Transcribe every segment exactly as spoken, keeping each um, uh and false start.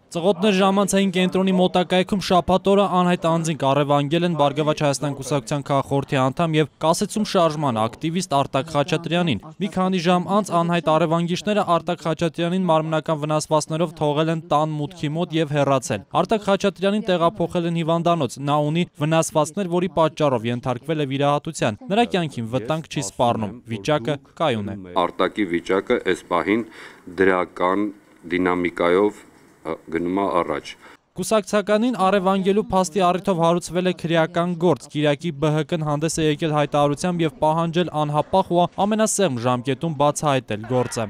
Ծղոտներ ժամանցային կենտրոնի մոտակայքում շաբաթ օրը անհայտ անձինք առևանգել են Բարգավաճ Հայաստան կուսակցության քաղաքխորհրդի անդամ եւ կասեցում շարժման ակտիվիստ Արտակ Խաչատրյանին։ Մի քանի ժամ անց անհայտ առևանգիչները Արտակ Խաչատրյանին մարմնական վնասվածքներով թողել են տան մուտքի մոտ եւ հեռացել։ Արտակ Խաչատրյանին տեղափոխել են հիվանդանոց։ Նա ունի վնասվածքներ, որի պատճառով ենթարկվել է վիրահատության։ Նրա կյանքին վտանգ չի սպառնում։ Վիճակը կայուն է։ Արտակի վիճակը այս պահին դրական դինամիկայով գնում է առաջ։ Կուսակցականին առևանգելու փաստի առիթով հարուցվել է քրեական գործ։ Կիրակի Բ Հ Կն հանդես է եկել հայտարարությամբ եւ պահանջել անհապաղ ու ամենասեղմ ժամկետում բացահայտել գործը։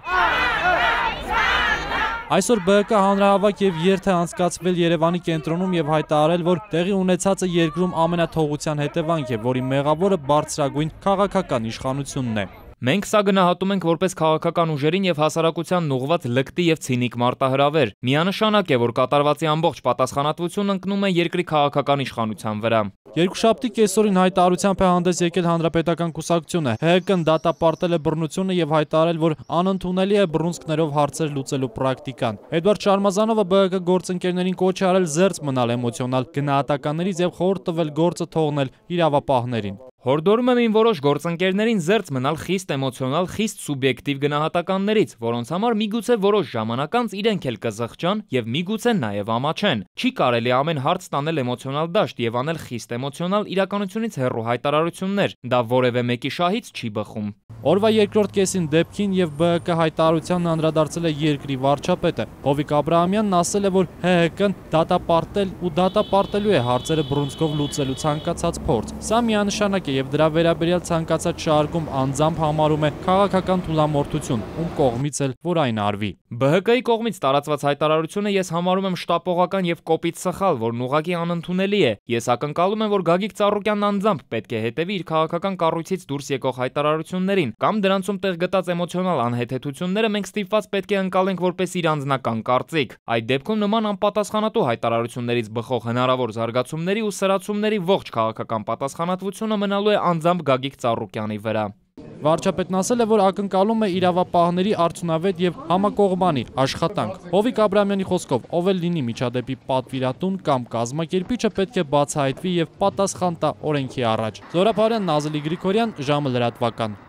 Այսօր Բ Հ Կ հանրահավաք եւ երթ է անցկացվել Երևանի կենտրոնում եւ հայտարարել, որ տեղի ունեցածը երկրում ամենաթողության հետևանք է, որի մեղավորը բարձրագույն քաղաքական իշխանությունն է։ Մենք սա գնահատում ենք որպես քաղաքական ուժերին եւ հասարակությանն ուղղված լկտի եւ ցինիկ մարտահրավեր։ Միանշանակ է, որ կատարվածի ամբողջ պատասխանատվությունն ընկնում է երկրի քաղաքական իշխանության վրա։ Երկուշաբթի կեսօրին հայտարարությամբ է հանդես եկել Հանրապետական կուսակցությունը։ Հ Հ Կն դատապարտել է բռնությունը եւ հայտարարել, որ անընդունելի է բռունցքներով հարցեր լուծելու պրակտիկան։ Էդվարդ Շարմազանովը Բ Հ Կ գործընկերներին կոչ է արել զերծ մնալ էմոցիոնալ գնահատականներից եւ խորհուրդ տվել գործը թողնել իրավապահներին։ Հորդորում եմ իմ որոշ գործընկերներին զերծ մնալ խիստ էմոցիոնալ, խիստ սուբյեկտիվ գնահատականներից, որոնց համար միգուցե որոշ ժամանակ անց իրենք էլ կզղջան եւ միգուցե նաեւ ամաչեն։ Չի կարելի ամեն հարց տանել էմոցիոնալ դաշտ եւ անել խիստ էմոցիոնալ իրականությունից հեռու հայտարարություններ։ Դա որևէ մեկի շահից չի բխում։ Օրվա երկրորդ կեսին դեպքին եւ Բ Հ Կ հայտարարությանն անդրադարձել է երկրի վարչապետը։ Հովիկ Աբրահամյանն ասել է, որ Հ Հ Կն դատապարտել ու դատապարտելու է հարցերը բռունցքով լուծելու ցանկացած փորձ։ Սա միանշանակ է եւ դրա վերաբերյալ ցանկացած շարքում անձամբ համարում է քաղաքական թուլամորթություն, ում կողմից էլ որ այն արվի։ Բ Հ Կ-ի կողմից տարածված հայտարարությունը ես համարում եմ շտապողական եւ կոպիտ սխալ, որն ուղղակի անընդունելի է։ Ես ակնկալում եմ, որ Գագիկ Ծառուկյանն անձամբ պետք է հետևի իր քաղաքական կառույցից դուրս եկող հայտարարություններին, կամ դրանցում տեղ գտած էմոցիոնալ անհեթեթությունները մենք ստիպված պետք է ընկալենք որպես իր անձնական կարծիք։ Այդ դեպքում նման անպատասխանատու հայտարարություններից բխող հնարավոր զարգացումների ու սրացումների ողջ քաղաքական պատասխանատվությունը մնալու է անձամբ Գագիկ Ծառուկյանի վրա։ Վարչապետն ասել է, որ ակնկալում է իրավապահների արդյունավետ եւ համակողմանի աշխատանք։ Հովիկ Աբրահամյանի խոսքով, ով էլ լինի միջադեպի պատվիրատուն կամ կազմակերպիչը պետք է բացահայտվի եւ պատասխան տա օրենքի առաջ։ Զորապարյան, Նազելի Գրիգորյան, ժամը լրատվական։